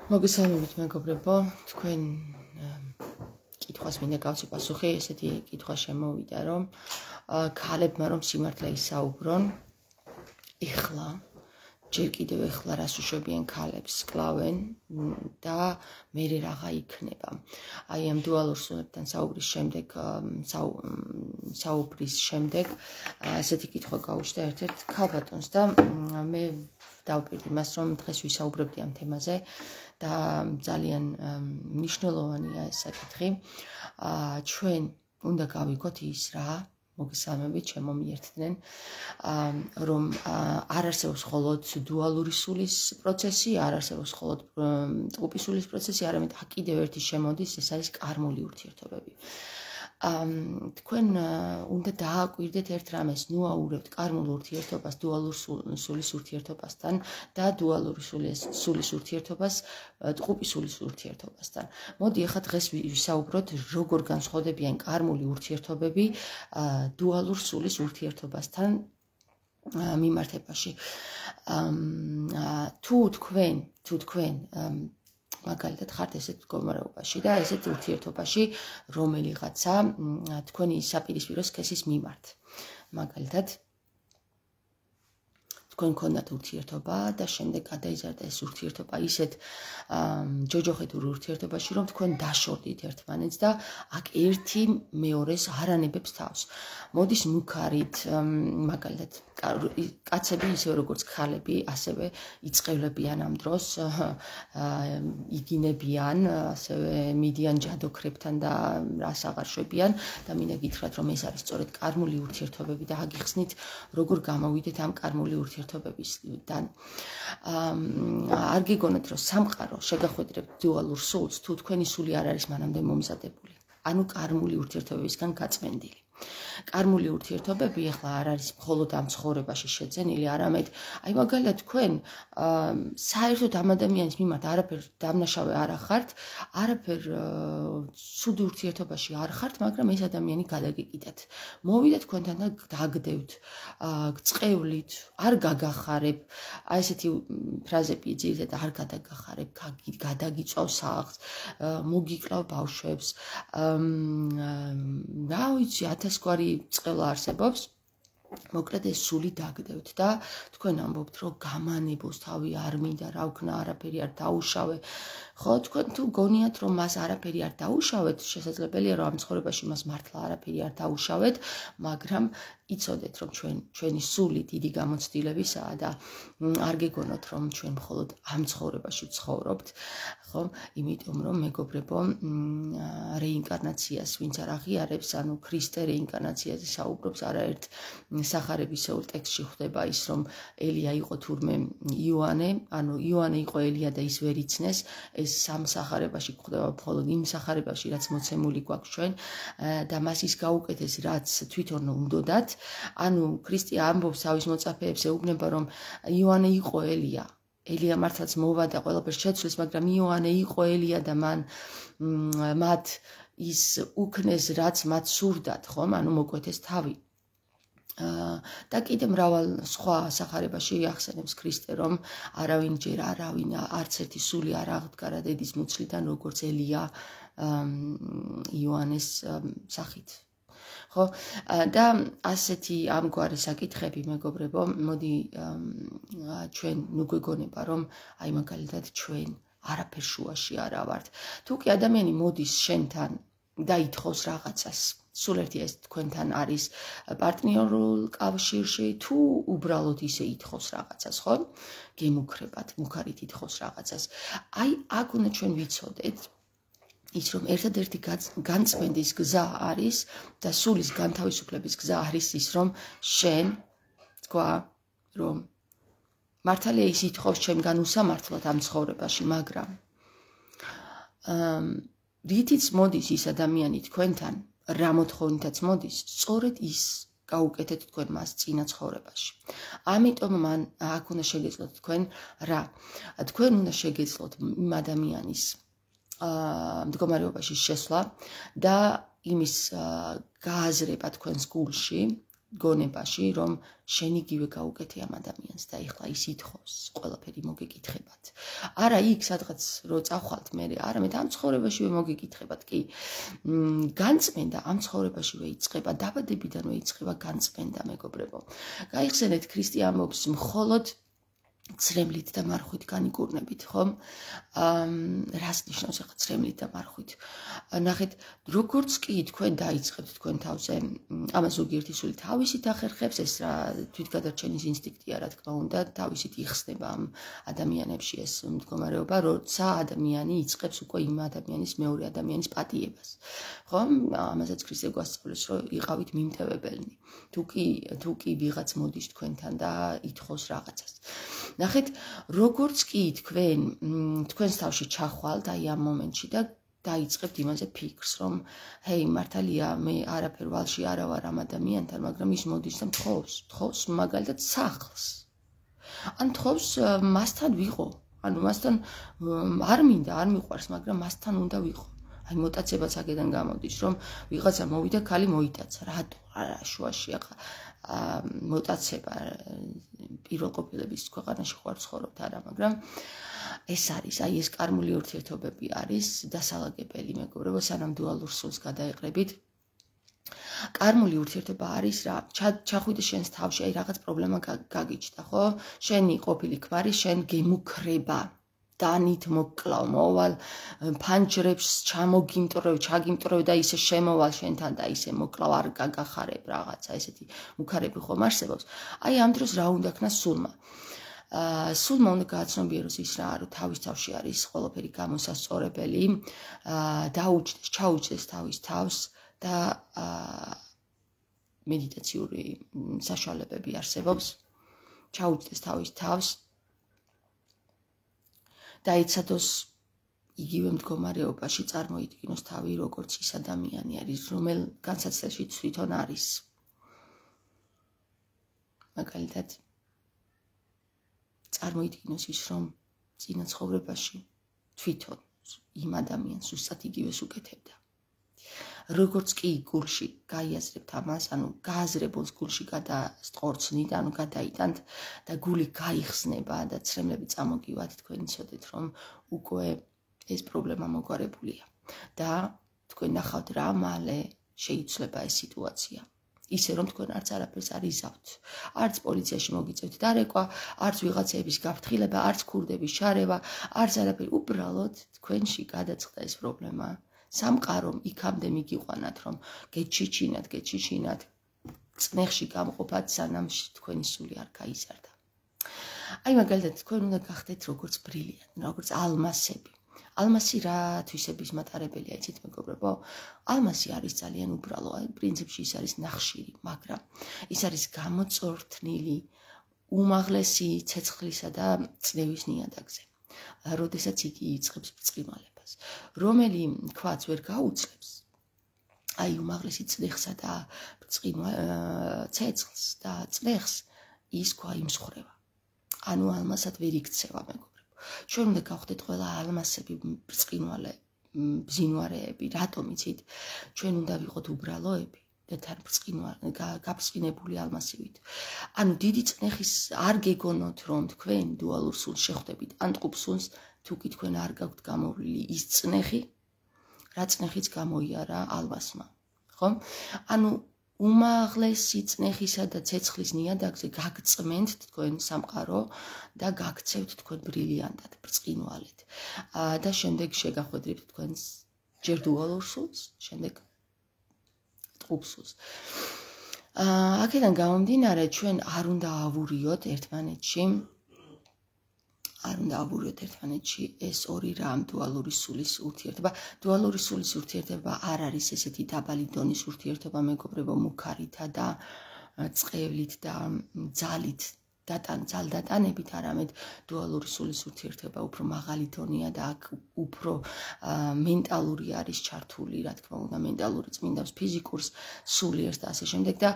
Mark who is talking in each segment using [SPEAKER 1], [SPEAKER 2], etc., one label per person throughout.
[SPEAKER 1] მოგესალმებით მეგობრებო, თქვენ კითხვას მინდა გავცი პასუხი, ესეთი კითხვა შემოვიდა, რომ ქალებმა რომ სიმართლე ისაუბრონ, ეხლა ჯერ კიდევ ეხლა რას უშვებიან ქალებს, კლავენ და მერე რაღა იქნება. აი ამ დუალურ სულებთან საუბრის შემდეგ, ესეთი კითხვა გაუჩნდა ერთ-ერთ ქალბატონს და მე დავპირდი მას, რომ დღეს ვისაუბრებდი ამ თემაზე და ძალიან მნიშვნელოვანია ეს საკითხი. ჩვენ უნდა გავიგოთ ის რა მოგესალმებით, შემომიერთდნენ, რომ არ არსებობს მხოლოდ დუალური სულის პროცესი, არ არსებობს მხოლოდ ტყუპი სულის პროცესი, არამედ კიდევ ერთი შემოდის, ეს არის კარმული ურთიერთობები. თქვენ უნდა დააკვირდეთ ერთ რამეს, ნუაურებთ კარმულ ურთიერთობას დუალურ სულის ურთიერთობასთან და დუალური სულის ურთიერთობას ტყუპი სულის ურთიერთობასთან. მოდი ახლა დღეს ვისაუბროთ, როგორ განსხვავდებიან კარმული ურთიერთობები დუალურ სულის ურთიერთობასთან მიმართებაში. თუ თქვენ მაგალითად ხართ ესეთ მდგომარეობაში და ესეთ ურთიერთობაში, რომელიღაცა თქვენი საპირისპირო სქესის მიმართ. მაგალითად თქვენ გქონდათ ურთიერთობა და შემდეგ გადაიზარდა ეს ურთიერთობა ისეთ ჯოჯოხეთურ ურთიერთობაში, რომ თქვენ დაშორდით ერთმანეთს და აქ ერთი მეორეს არ ანებებს თავს. მოდის მუქარით, მაგალითად კაცები ისე როგორც ქალები, ასევე იწევლებიან ამ დროს, იგინებიან, ასევე მიდიან ჯადოქრებთან და რას აღარ შვებიან და მინდა გითხრათ, რომ ეს არის სწორედ კარმული ურთიერთობები და აგიხსნით, როგორ გამოვიდეთ ამ კარმული ურთიერთობებისგან. არ გიგონოთ, რომ სამყარო შეგახვედრებთ დუალურ სულს, თუ თქვენი სული არ არის მანამდე მომზადებული. ანუ კარმული ურთიერთობებისგან გაწმენდილი. კარმული ურთიერთობები ახლა არ არის მხოლოდ ამ ცხოვრებაში შეძენილი, არამედ აი მაგალითად თქვენ საერთოდ ამ ადამიანის მიმართ არაფერ დამნაშავე არ ახართ, არაფერ ცუდი ურთიერთობაში არ ხართ, მაგრამ ეს ადამიანი გადაგეკიდათ. მოვიდა თქვენთან და დაგდევთ, გწყევლით, არ გაგახარებ, აი ესეთი ფრაზები ძირითადად არ გადაგახარებ, გადაგიწვავ სახლს, მოგიკლავ ბავშვებს, რა ვიცი, 1000 გვარი წყევლა არსებობს. მოკლედ ეს სული დაგდევთ და თქვენ ამბობთ, რომ გამანებოს თავი არ მინდა, რა ვქნა, არაფერი არ დაუშავე. ხო, თქვენ თუ გონიათ, რომ მას არაფერი არ დაუშავეთ, შესაძლებელია, რომ ამ ცხოვრებაში მას მართლა არაფერი არ დაუშავეთ, მაგრამ იცოდეთ, რომ ჩვენი სული დიდი გამოცდილებისაა და არ გეგონოთ, რომ ჩვენ მხოლოდ ამ ცხოვრებაში ცხოვრობთ, ხო? იმიტომ რომ მეგობრებო, რეინკარნაციას ვინც არ აღიარებს, ანუ ქრისტე რეინკარნაციაზე საუბრობს, არაერთ სახარებისეულ ტექსტში ხვდება ის, რომ ელია იყო თურმე იოანე, ანუ იოანე იყო ელია და ის ვერ იცნეს, ეს სამ სახარებაში გვხვდება მხოლოდ იმ სახარებაში, რაც მოცემული გვაქვს ჩვენ და მას ის გაუკეთეს, რაც თვითონ უნდოდათ. ანუ ქრისტე ამბობს თავის მოწაფეებს, ეუბნება, რომ იოანე იყო ელია. ელია მართლაც მოვა და ყველაფერს შეცვლის, მაგრამ იოანე იყო ელია და მათ ის უქნეს, რაც მათ სურდათ, ხომ? ანუ მოკვეთეს თავი. და კიდე მრავალ სხვა სახარებაში ახსენებს ქრისტე, რომ არავინ ჯერ არც ერთი სული არ აღდგარა დედის მუცლიდან, როგორც ელია იოანეს სახით. ხო, და ასეთი ამგვარი საკითხები, მეგობრებო, მოდი ჩვენ ნუ გვეგონება, რომ აი მაგალითად ჩვენ არაფერ შუაში არა ვართ. თუ კი ადამიანი მოდის შენთან და ითხოვს რაღაცას, სულ ერთი ეს თქვენთან არის პარტნიორულ კავშირში, თუ უბრალოდ ისე ითხოვს რაღაცას, ხო? გემუქრებათ, მუქარით ითხოვს რაღაცას. აი აქ უნდა ჩვენ ვიცოდეთ ის, რომ ერთადერთი განწმენდის გზა არის და სულის განთავისუფლების გზა არის ის, რომ შენ თქვა, რომ მართალია ის ითხოვს ჩემგან უსამართლოდ ამ ცხოვრებაში, მაგრამ რითიც მოდის ის ადამიანი თქვენთან, რა მოთხოვნითაც მოდის, სწორედ ის გაუკეთეთ თქვენ მას წინა ცხოვრებაში. ამიტომ მან აქ უნდა შეგეძლოთ თქვენ რა? თქვენ უნდა შეგეძლოთ იმ ადამიანის მდგომარეობაში შესვლა და იმის გააზრება თქვენს გულში, გონებაში, რომ შენ იგივე გაუკეთე ამ ადამიანს და ეხლა ის ითხოვს, ყველაფერი მოგეკითხებათ. არა იქ სადღაც რო წახვალთ მე, არამედ ამ ცხოვრებაშივე მოგიკითხებათ კი. განწმენდა ამ ცხოვრებაშივე იწყება, დაბადებიდანვე იწყება განწმენდა, მეგობრებო. გაიხსენეთ ქრისტე ამბობს მხოლოდ ცრემლით და მარხვით განიკურნებით, ხომ? რას ნიშნავს ახლა ცრემლით და მარხვით? ნახეთ, როგორც კი თქვენ დაიწყებთ თქვენ თავზე, ამას ზოგიერთი სული თავისით ახერხებს, ეს რა თვითგადარჩენის ინსტინქტია, რა თქმა უნდა, თავისით იხსნება ამ ადამიანებში ეს მდგომარეობა, როცა ადამიანი იწყებს უკვე იმ ადამიანის მეორე ადამიანის პატიებას. ხომ? ამასაც ქრისტე გვასწავლებს, რომ იყავით მიმტევებელნი. თუ კი ვიღაც მოდის თქვენთან და ითხოვს რაღაცას. ნახეთ, როგორც კი თქვენს თავში ჩახვალთ აი ამ მომენტში და დაიწყებთ იმაზე ფიქრს, რომ ჰეი, მართალია, მე არაფერ ვალში არა ვარ ამ ადამიანთან, მაგრამ ის მოდის და თხოვს მაგალითად სახლს. ან თხოვს მასთან ვიყო, ანუ მასთან არ მინდა, არ მიყვარს, მაგრამ მასთან უნდა ვიყო. აი მოტაცებაც აქედან გამოდის, რომ ვიღაცა მოვიდა, ქალი მოიტაცა. რატო? არა, შუაში ახლა მოტაცება პირველყოფილების ქვეყანაში ხوار ცხოვრობთ არა, მაგრამ ეს არის, აი ეს კარმული ურთიერთობები არის დასალაგებელი, მეგობრებო, სანამ დუალურ სულს გადაეყრებით. კარმული ურთიერთობა არის რა, ჩახვიდე შენს თავში, აი რაღაც პრობლემა გაგიჩნდა, ხო? შენი ყოფილი ქმარი შენ გემუქრება. დანით მოკლავ, მოვალ ფანჯრებს ჩაგიმტრევ და ისე შემოვალ შენთან და ისე მოკლავ, არ გაგახარებ რაღაცა, ესეთი მუქარები ხომ არსებობს. აი ამ დროს რა უნდა ქნას სულმა? სულმა უნდა გააცნობიეროს ის რა, რომ თავის თავში არის ყველაფერი გამოსასწორებელი, ჩაუჯდეს თავის თავს და მედიტაციური საშუალებები არსებობს, ჩაუჯდეს თავის თავს. დაიცადოს იგივე მდგომარეობაში წარმოიდგინოს თავი, როგორც ის ადამიანი არის, რომელ განსაცდელში თვითონ არის. მაგალითად, წარმოიდგინოს ის, რომ წინა ცხოვრებაში თვითონ იმ ადამიანს უბრალოდ იგივეს უკეთებდა. როგორც კი გულში გაიაზრებთ ამას, ანუ გააზრებულს გულში გადასტყორცნით, ანუ გადაიტანთ და გული გაიხსნება და ცრემლები წამოგივათ, თქვენ იცოდეთ, რომ უკვე ეს პრობლემა მოგვარებულია და თქვენ ნახავთ რა მალე შეიცვლება ეს სიტუაცია. ისე რომ თქვენ არც არაფერს არ იზავთ, არც პოლიციაში მოგიწევთ დარეკვა, არც ვიღაცების გაფრთხილება, არც ქურდების შარევა, არც არაფერი, უბრალოდ თქვენში გადაწყდა ეს პრობლემა. სამყარომ იქამდე მიგიყვანათ, რომ გეჩიჩინათ, წნეხში გამყოფათ, სანამ თქვენი სული არ გაიზარდა. აი მაგალითად, თქვენ უნდა გახდეთ როგორც ბრილიანტი, როგორც ალმასები. ალმასი რა თვისების მატარებელია, იცით მეგობრებო? ალმასი არის ძალიან უბრალო, აი პრინციპში ის არის ნახშირი, მაგრამ ის არის გამოწორთნილი უმაღლესი ცეცხლისა და წნევის ნიადაგზე. როდესაც იგი იწყებს ბრწყინვალებას, რომელი ქვაც ვერ გაუძლებს აი უმაღლესი წნეხსა და ცეცხლს და წნეხს, ის ქვა იმსხვრევა. ანუ ალმასად ვერ იქცევა, მეგობრებო. ჩვენ უნდა გავხდეთ ყველა ალმასები, ბრწყინვალე ბზინვარეები, რატომ იცით? ჩვენ უნდა ვიყოთ უბრალოები და თან გაბრწყინებული ალმასივით. ანუ დიდი წნეხის არ გეგონოთ, რომ თქვენ დუალურ სულს შეხვდებით, ან ტყუპ სულს, თუ კი თქვენ არ გაქვთ გამოვლილი ის წნეხი, რა წნეხიც გამოიარა ალმასმა, ხო? ანუ უმაღლესი წნეხისა და ცეცხლის ნიადაგზე გაგწმენთ თქვენ სამყარო და გაგცევთ თქვენ ბრილიანტად, ბრწყინვალედ. და შემდეგ შეგახვედრებთ თქვენს ჯერ დუალურ სულს, შემდეგ ტყუპ სულს. აქედან გამომდინარე, ჩვენ არ უნდა ავურიოთ ერთმანეთში ეს ორი რამ, დუალური სულის ურთიერთობა. დუალური სულის ურთიერთობა არ არის ესეთი დაბალი დონის ურთიერთობა, მეგობრებო, მუქარითა და წყევლით და ძალით ძალდატანებით, არამედ დუალური სულის ურთიერთობა უფრო მაღალი დონეა და აქ უფრო მენტალური არის ჩართული, რა თქმა უნდა, მენტალური წმინდავს ფიზიკურს, სულიერს და ასე შემდეგ და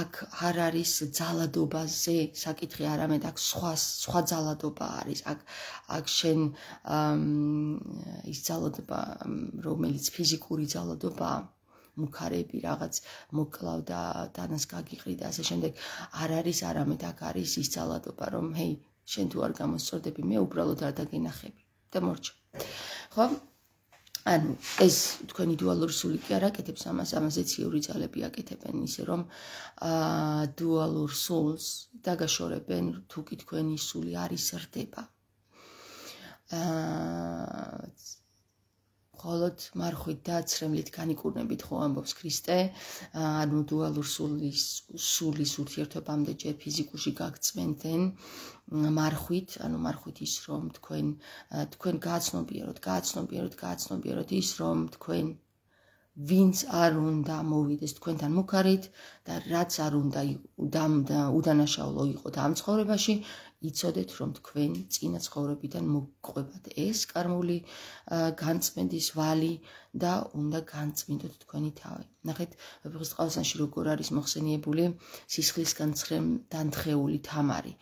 [SPEAKER 1] აქ არ არის ძალადობაზე საკითხი, არამედ აქ სხვა ძალადობა არის. აქ შენ ის ძალადობა, რომელიც ფიზიკური ძალადობაა, მუქარები რაღაც მოკლავ და დანას გაგიყრი და ასე შემდეგ არ არის, არამედ აქ არის ის ძალადობა, რომ ჰეი, შენ თუ არ გამოსწორდები, მე უბრალოდ არ დაგენახები და მორჩა. ხო? ანუ ეს თქვენი დუალური სული კი არ აკეთებს ამას, ამაზე ციური ძალები აკეთებენ, ისე რომ დუალურ სულს დაგაშორებენ, თუ კი თქვენი სული არ იზრდება. მხოლოდ მარხვით და ცრემლით განიკურნებით ხო ამბობს ქრისტე, ანუ დუალურ სულის ურთიერთობამდე ჯერ ფიზიკურში გაგწმენდნენ მარხვით, ანუ მარხვით ის რომ თქვენ გააცნობიეროთ ის რომ თქვენ ვინც არ უნდა მოვიდეს თქვენთან მუქარით და რაც არ უნდა უდანაშაულო იყოთ ამ ცხოვრებაში, იცოდეთ რომ თქვენ წინა ცხოვრებიდან მოგყვებათ ეს კარმული განწმენდის ვალი და უნდა განწმინდოთ თქვენი თავი. ნახეთ, ვეფხისტყაოსანში როგორ არის მოხსენიებული სისხლისგან დანთხეული თამარი.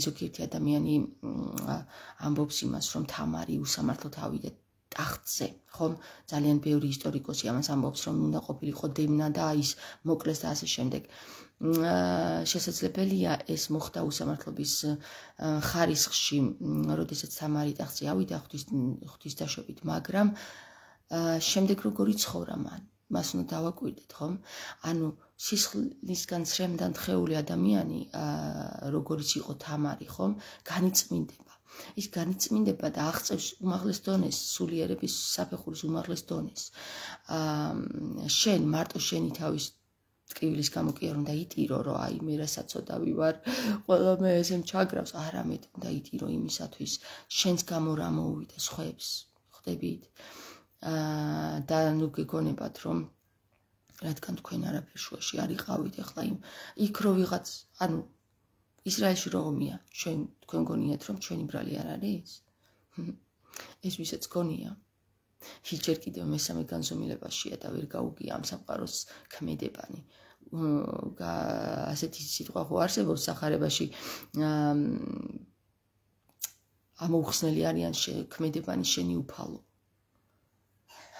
[SPEAKER 1] ზოგიერთი ადამიანი ამბობს იმას, რომ თამარი უსამართლო თავიდა ტახტზე, ხომ? ძალიან ბევრი ისტორიკოსი ამას ამბობს, რომ უნდა ყოფილიყო დევნა და ის მოკლეს და ასე შემდეგ. შესაძლებელია ეს მოხდა უსამართლობის ხარისხში, როდესაც თამარი ტახტზე ავიდა ღვთისდაშვებით, მაგრამ შემდეგ როგორი ცხოვრა მას უნდა დავაკვირდეთ, ხომ? ანუ სისხლისგან დანთხეული ადამიანი, როგორიც იყო თამარი, ხომ? განიწმინდება. ის განიწმინდება და აღწევს უმაღლეს დონეს, სულიერების საფეხურის უმაღლეს დონეს. შენ მარტო შენი თავის ტკივილის გამო კი არ უნდა იტირო, რომ აი მე რასაცოდავი ვარ, ყველა მე ესე ჩაგრავს, არამედ უნდა იტირო იმისათვის, შენს გამო რა მოუვიდა სხვებს, ხვდებით? და ნუ გეგონებათ, რომ რადგან თქვენ არაფერ შუაში არ იყავით, ახლა იქ რო ვიღაც, ანუ ისრაელში როგორია, თქვენ გონიათ, რომ ჩვენი ბრალი არ არის? ეს ვისაც გონია. ჯერ კიდევ მესამე განზომილებაშია და ვერ გაუგია ამ სამყაროს ქმედებანი. ასეთი სიტყვა ხო არსებობს სახარებაში, ამოუხსნელი არიან ქმედებანი შენი უფალო.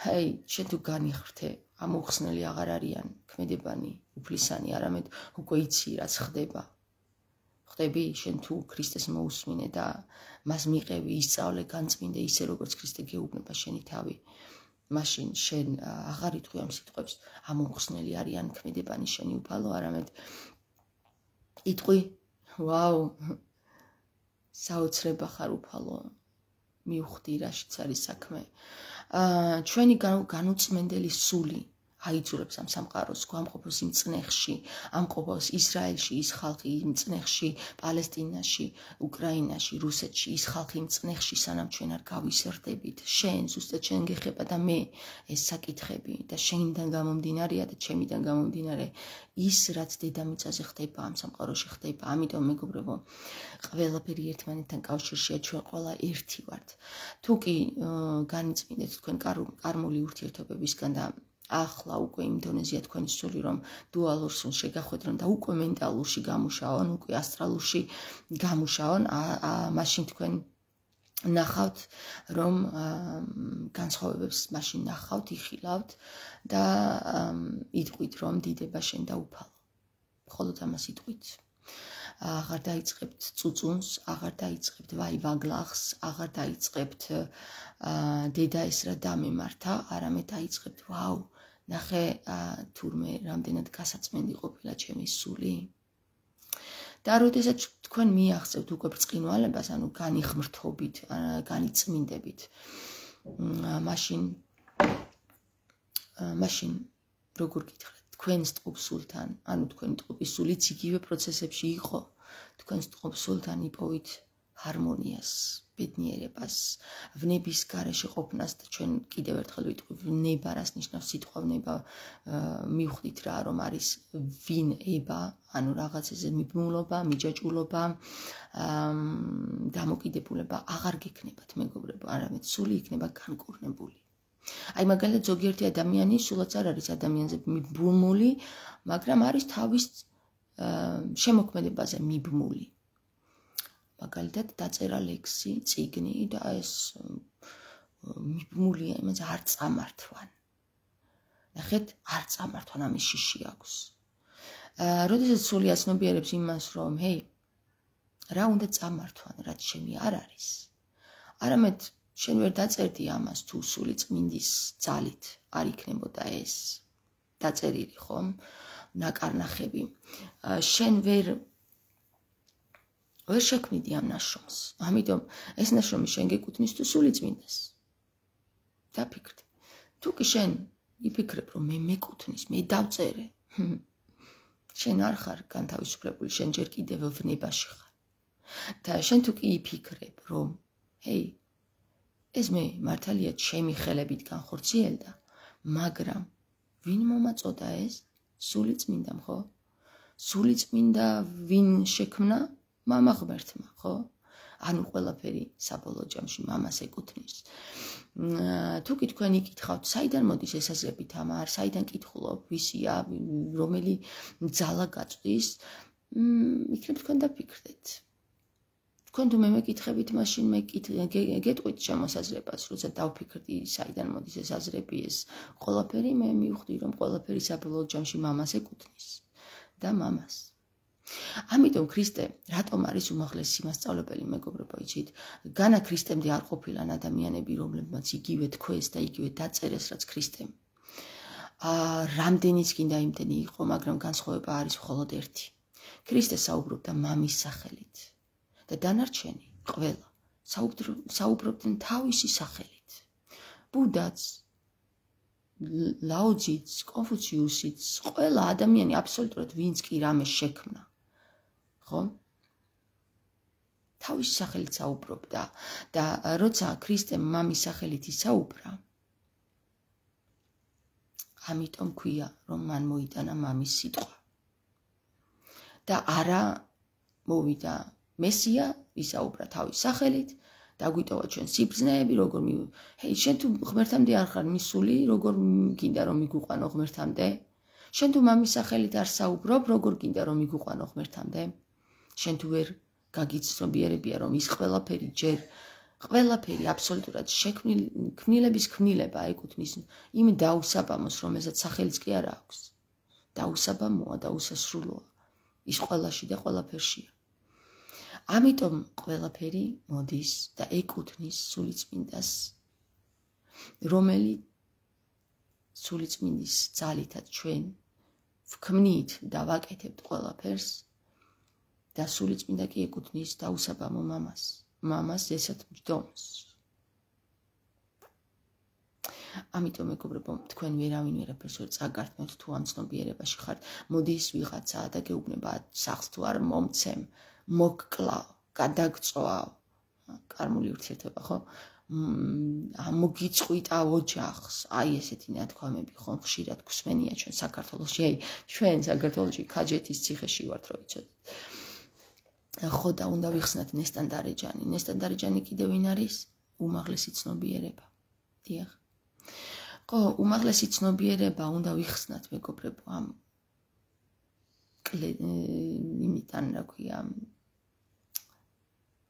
[SPEAKER 1] ჰეი, შენ თუ განიხრთე, ამოუხსნელი აღარ არიან ქმედებანი უფლისანი, არამედ უკვე იცი რაც ხდება. ხვდები, შენ თუ ქრისტეს მოусმინე და მას მიყევი, ისწავლე, განწმინდე ისე როგორც ქრისტე გეუბნება შენი თავი. მაშინ შენ აღარ იტყვი ამ სიტყვებს, ამოუხსნელი არიან ქმედებანი შენი უფალო, არამედ იტყვი, ვაუ, საოცრება ხარ უფალო, მივხვდი რაშიც არის საქმე. ჩვენი განუწმენდელი სული აიძულებს ამ სამყაროს გვამყოფოს იმ წნეხში, ამყოფოს ისრაელში ის ხალხი იმ წნეხში, პალესტინაში, უკრაინაში, რუსეთში ის ხალხი იმ წნეხში, სანამ ჩვენ არ გავიზრდებით. შენ ზუსტად შენ გეხება და მე ეს საკითხები და შენიდან გამომდინარეა და ჩემიდან გამომდინარე ის რაც დედამიწაზე ხდება, ამ სამყაროში ხდება. ამიტომ მეგობრებო, ყველაფერი ერთმანეთთან კავშირშია, ჩვენ ყველა ერთი ვართ. თუ კი განიწმინდეთ თქვენ კარმული ურთიერთობებისგან და ახლა უკვე იმ დონეზეა თქვენი სული, რომ დუალურ სულს შეგახვედრონ და უკვე მენტალურში გამუშაონ, უკვე ასტრალურში გამუშაონ, მაშინ თქვენ ნახავთ, რომ განსხვავებებს მაშინ ნახავთ, იხილავთ და იტყვით, რომ დიდება შენ და უფალო. მხოლოდ ამას იტყვით. აღარ დაიწყებთ წუწუნს, აღარ დაიწყებთ ვაივაგლახს, აღარ დაიწყებთ დედა ეს რა დამემართა, არამედ დაიწყებთ, ვაუ, ნახე თურმე რამდენად გასაწმენდი ყოფილა ჩემი სული. და როდესაც თქვენ მიაღწევთ უკვე ბრწყინვალებას, ანუ განიხმრთობით, განიწმინდებით, მაშინ როგორ გითხრათ, თქვენს ტყუპსულთან, ანუ თქვენი ტყუპის სულიც იგივე პროცესებში იყო, თქვენს ტყუპსულთან იპოვით ჰარმონიას, ბედნიერებას, ვნების გარეშე ყოფნას და ჩვენ კიდევ ერთხელ ვიტყვი ვნება, რას ნიშნავს სიტყვა ვნება, მივხვდით რა, რომ არის ვინება, ანუ რაღაცაზე მიბმულობა, მიჯაჭვულობა, დამოკიდებულება აღარ გექნებათ მეგობრებო, არამედ სული იქნება განკურნებული. აი მაგალითად ზოგიერთი ადამიანი სულაც არ არის ადამიანზე მიბმული, მაგრამ არის თავის შემოქმედებაზე მიბმული. მაგალითად დაწერა ლექსი, წიგნი და ეს მიბმულია იმაზე არ წამართვან. ნახეთ, არ წამართვან ამის შიში აქვს. როდესაც სული აცნობიერებს იმას, რომ ჰეი, რა უნდა წამართვან, რაც შენი არ არის. არამედ შენ ვერ დაწერდი ამას თუ სული წმინდის ძალით არ იქნებოდა ეს დაწერილი, ხომ? ნაკარნახები. შენ ვერ შექმნიდი ამ ნაშრომს. ამიტომ ეს ნაშრომი შენ გეკუთვნის თუ სული წმინდას. დაფიქრდი. თუ კი შენ იფიქრებ, რომ მე მეკუთვნის, მე დავწერე. შენ არ ხარ განთავისუფლებული, შენ ჯერ კიდევ ვნებაში ხარ. და შენ თუ კი იფიქრებ, რომ ჰეი, ეს მე მართალია ჩემი ხელებით განხორციელდა, მაგრამ ვინ მომაწოდა ეს? სული წმინდამ, ხო? სული წმინდა ვინ შექმნა? მამა ღმერთმა, ხო? ანუ ყველაფერი საბოლოო ჯამში მამას ეკუთვნის. თუ კი თქვენ იკითხავთ, საიდან მოდის ესაზრებით ამარ, საიდან კითხულობ, ვისია, რომელი ძალა გაწვდის, იქნებ თქვენ დაფიქრდეთ. თქვენ თუ მე მეკითხებით, მაშინ მე გეტყვით შემოსაზრებას, როცა დავფიქრდი, საიდან მოდის ეს აზრები, ეს ყველაფერი, მე მივხვდი, რომ ყველაფერი საბოლოო ჯამში მამას ეკუთვნის და მამას. ამიტომ ქრისტე რატომ არის უმაღლესი მასწავლებელი, მეგობრებო, იცით? განა ქრისტემდე არ ყოფილან ადამიანები, რომლებმაც იგივე თქვეს და იგივე დაწერეს, რაც ქრისტემ. რამდენიც კიდე იმდენი იყო, მაგრამ განსხვავება არის მხოლოდ ერთი. ქრისტე საუბრობდა მამის სახელით და დანარჩენი ყველა საუბრობდნენ თავისი სახელით. ბუდაც, ლაოძიც, კონფუციუსიც, ყველა ადამიანი აბსოლუტურად ვინც კი რამე შექმნა. ხო? თავის სახელით საუბრობდა და როცა ქრისტემ მამის სახელით ისაუბრა, ამიტომ ქვია, რომ მან მოიტანა მამის სიტყვა. და არა მოვიდა მესია, ისაუბრა თავის სახელით, დაგვიტოვა ჩვენ სიბრძნეები, როგორ ჰეი, შენ თუ ღმერთამდე არ ხარ მისული, როგორ გინდა რომ მიგუყვანო ღმერთამდე? შენ თუ მამის სახელით არ საუბრობ, როგორ გინდა რომ მიგუყვანო ღმერთამდე? შენ თუ ვერ გაგიცნობიერებია, რომ ის ყველაფერი ჯერ ყველაფერი აბსოლუტურად ქმნილების ქმნილება ეკუთვნის იმ დაუსაბამოს, რომელსაც სახელიც კი არ აქვს. დაუსაბამოა და უსასრულოა. ის ყველაში და ყველაფერშია. ამიტომ ყველაფერი მოდის და ეკუთვნის სულიწმინდას, რომელიც სულიწმინდის ძალითაც ჩვენ ვქმნით და ვაკეთებთ ყველაფერს და სულიწმინდა კი ეკუთვნის დაუსაბამო მამას ესეთ მჯდომს. ამიტომ მეგობრებო, თქვენ ვერავინ ვერაფერს ვერ წაგართმევთ თუ ამ ცნობიერებაში ხართ. მოდის ვიღაცა და გეუბნება სახლს თუ არ მომცემ, მოგკლავ, გადაგწვავ, კარმული ურთიერთობა, ხო? მოგიწყვიტავ ოჯახს, აი ესეთი ნათქვამები ხომ ხშირად გვსმენია ჩვენ საქართველოში. აი, ჩვენ საქართველოში ქაჯეთის ციხეში ვართ, რო იცოდეთ. ხო და უნდა ვიხსნათ ნესტან-დარეჯანი. ნესტან-დარეჯანი კიდევ ვინ არის? უმაღლესი ცნობიერება. დიახ. ხო, უმაღლესი ცნობიერება უნდა ვიხსნათ, მეგობრებო, ამ იმიდან, რა ქვია,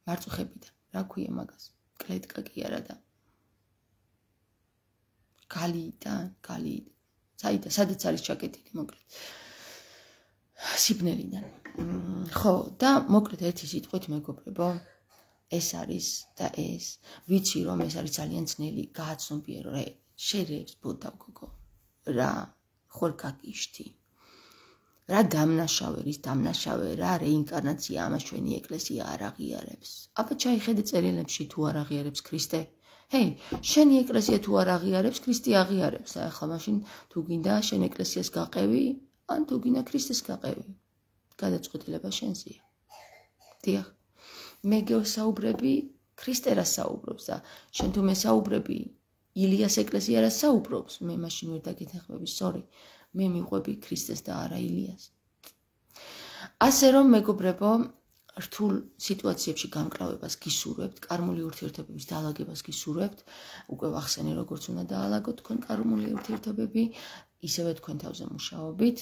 [SPEAKER 1] მარწუხებიდან, რა ქვია მაგას? კლეტკა კი არა და გალიიდან, სადაც არის ჩაკეტილი, მოკლედ. სიბნელიდან. ხო, და მოკლედ ერთი სიტყვით, მეგობრებო, ეს არის და ეს, ვიცი რომ ეს არის ძალიან ძნელი გააცნობიერო, შერევს ბოდა გოგო, რა ხორ გაკიშთი. რა დამნაშავე, რის დამნაშავე, რა რეინკარნაცია ამას ჩვენი ეკლესია არ აღიარებს. აბა ჩაიხედე წერილებში თუ არ აღიარებს ქრისტე. ჰეი, შენი ეკლესია თუ არ აღიარებს, ქრისტე აღიარებს. ახლა მაშინ თუ გინდა შენ ეკლესიას გაყევი, ან თუ გინდა ქრისტეს გაყევი. გადაწყვეტილება შენზეა. დიახ. მე გესაუბრები, ქრისტე რა საუბრობს და შენ თუ მესაუბრები, ილიას ეკლესია რა საუბრობს, მე მაშინ ვერ დაგეთანხმები, სორი. მე მიყვები ქრისტეს და არა ილიას. ასე რომ მეგობრებო, რთულ სიტუაციებში გამკლავებას გისურვებთ, კარმული ურთიერთობების დაალაგებას გისურვებთ, უკვე ვახსენე როგორც უნდა დაალაგოთ თქვენ კარმული ურთიერთობები, ისევე თქვენ თავზე მუშაობით.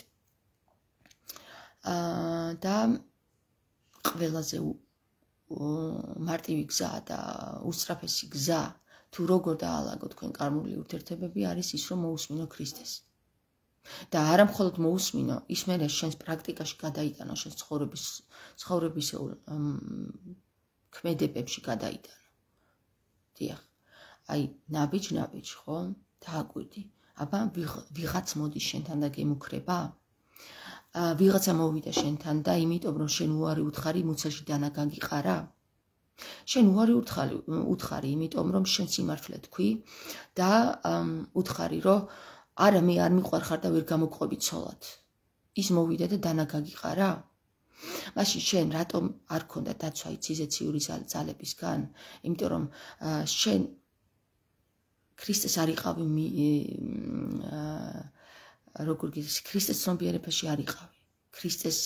[SPEAKER 1] და ყველაზე მარტივი გზა და უსწრაფესი გზა თუ როგორ დაალაგოთ თქვენ კარმული ურთიერთობები არის ის, რომ მოусმინო ქრისტეს. და არა მხოლოდ მოусმინო, ის მერე შენს პრაქტიკაში გადაიტანო, შენს ცხოვრების ქმედებებში გადაიტანო. დიახ. აი, ნაბიჯ, ხო? დააკვირდი. აბა ვიღაც მოდის შენთან და გემუქრება? ვიღაცა მოვიდა შენთან და იმიტომ რომ შენ უარი უთხარი მუცელში დანა გაგიყარა? შენ უარი უთხარი იმიტომ რომ შენ სიმართლე თქვი და უთხარი რომ არა მე არ მიყვარხარ და ვერ გამოგყვები ცოლად. ის მოვიდა და დანა გაგიყარა? მაშინ შენ რატომ არ ქონდა დაცვა იციზეციური ძალებისგან? იმიტომ რომ შენ ქრისტეს არ იყავი როგორ გითხრათ, ქრისტეს ცნობიერებაში არ იყავი. ქრისტეს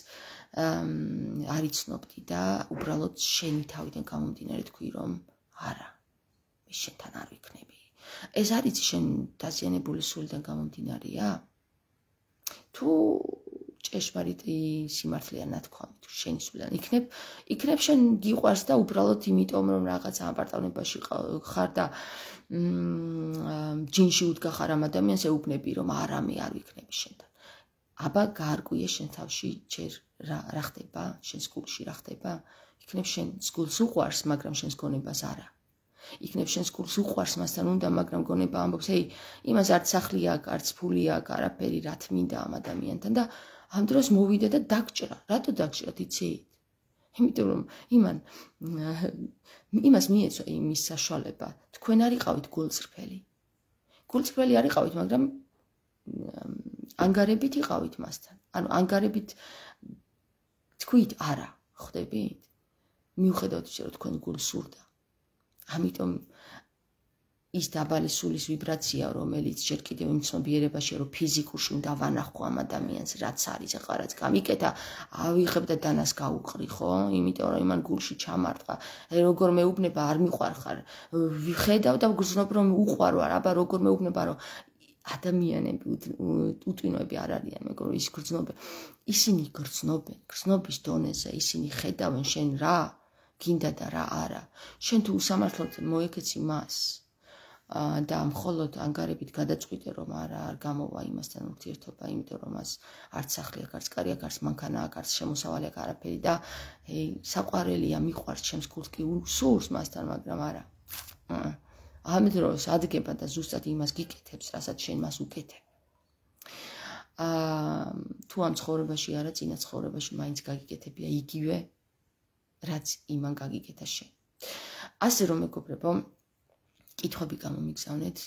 [SPEAKER 1] არ იცნობდი და უბრალოდ შენი თავიდან გამომდინარე თქვი რომ არა, მე შენთან არ ვიქნები. ეს არის შენ დაზიანებული სულიდან გამომდინარეა? თუ ჭეშმარიტი სიმართლეა ნათქვამი, თუ შენი სულიდან იქნებ შენ გიყვარს და უბრალოდ იმიტომ რომ რაღაც ამპარტავნებაში ხარ და ჯინში უდგახარ ამ ადამიანს ეუბნები რომ არა მე არ ვიქნები შენთან. აბა გაარკვიე შენ თავში ჯერ რა ხდება, შენს გულში რა ხდება? იქნებ შენ გულს უყვარს, მაგრამ შენს გონებას არა. იქნებ შენს გულს უყვარს მასთან უნდა, მაგრამ გონება ამბობს, ჰეი, იმას არც სახლი აქვს, არც ფული აქვს, არაფერი რა თმინდა ამ ადამიანთან და ამ დროს მოვიდა და დაგჭრა. რატო დაგჭრათ იცით? იმიტომ რომ იმას მიეცვა იმის საშუალება. თქვენ არ იყავით გულწრფელი. გულწრფელი არ იყავით, მაგრამ ანგარებით იყავით მასთან. ანუ ანგარებით თქვით არა, ხვდებით? მიუხედავად ისე რომ თქვენ გულს სურდა. ამიტომ ის დაბალი სულის ვიბრაცია, რომელიც ჯერ კიდევ იმ ცნობიერებაში, რომ ფიზიკურში უნდა ვანახო ამ ადამიანს, რაც არის, ახლა რაც გამიკეთა, ავიღებ და დანას გაუყრი, ხო? იმიტომ რომ იმან გულში ჩამარტყა. როგორ მეუბნება, არ მიყვარხარ. ვიხედავ და ვგრძნობ, რომ უყვარვარ, აბა როგორ მეუბნება, რომ ადამიანები უტვინოები არ არიან, მეგობრებო, ის გრძნობენ. ისინი გრძნობენ, გრძნობის დონეზე, ისინი ხედავენ შენ რა გინდა და რა არა. შენ თუ usამართლოდ მოეკეცი მას და მხოლოდ ანგარებით გადაწყვიტე რომ არა არ გამოვა იმასთან ურთიერთობა, იმიტომ რომ მას არც სახლი აქვს, არც კარი აქვს, არც მანქანა აქვს, არც შემოსავალი აქვს, არაფერი და საყვარელია, მიყვარს ჩემს გულს კი სურს მასთან, მაგრამ არა. ამ დროს ადგება და ზუსტად იმას გიკეთებს, რასაც შენ მას უკეთებ. თუ ამ ცხოვრებაში არა, წინა ცხოვრებაში მაინც გაგიკეთებია იგივე, რაც იმან გაგიკეთა შენ. ასე რომ მეგობრებო, კითხვები გამომიგზავნეთ,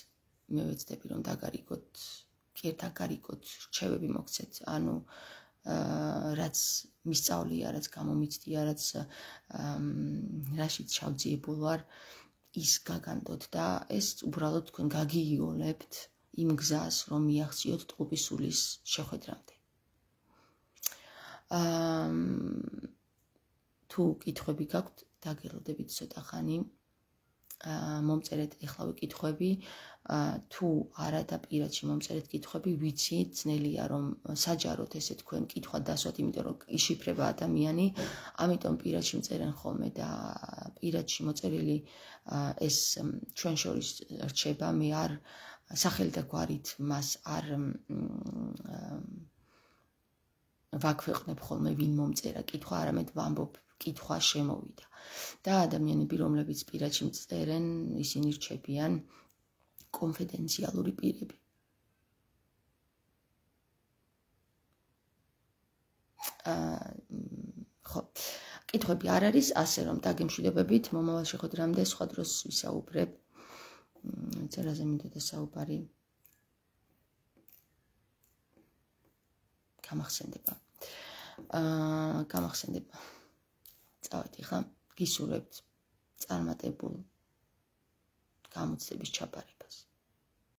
[SPEAKER 1] მე ვეცდები რომ დაგარიგოთ, კი დაგარიგოთ, რჩევები მოგცეთ, ანუ რაც მისწავლია, რაც გამომიცდია, რაც რაშიც ჩავძიებულ ვარ, ის გაგანდოთ და ეს უბრალოდ თქვენ გაგიოლებთ იმ გზას, რომ მიაღწიოთ ტყუპის სულის შეხვედრამდე. თუ კითხვები გაქვთ, დაგელოდებით ცოტა ხანი. მომწერეთ ეხლავე კითხვები, თუ არა და პირადში მომწერეთ კითხვები, ვიცი, ძნელია რომ საჯაროდ ესე თქვენ კითხვა დასვათ, იმიტომ რომ იშიფრება ადამიანი, ამიტომ პირადში მწერენ ხოლმე და პირადში მოწერილი ეს ჩვენ შორის რჩება, მე არ სახელი და გვარით მას არ ვაქვეყნებ ხოლმე ვინ მომწერა კითხვა, არამედ ვამბობ კითხვა შემოვიდა. და ადამიანები, რომლებიც პირადში მწერენ, ისინი რჩებიან კონფიდენციალური პირები. ხო, კითხვები არ არის, ასე რომ დაგემშვიდობებით, მომავალ შეხვედრამდე სხვა დროს ვისაუბრებ. წერაზე მინდოდა საუბარი. გამახსენდება. წავედი ხა, გისურვებთ წარმატებულ გამოცდების ჩაბარებას.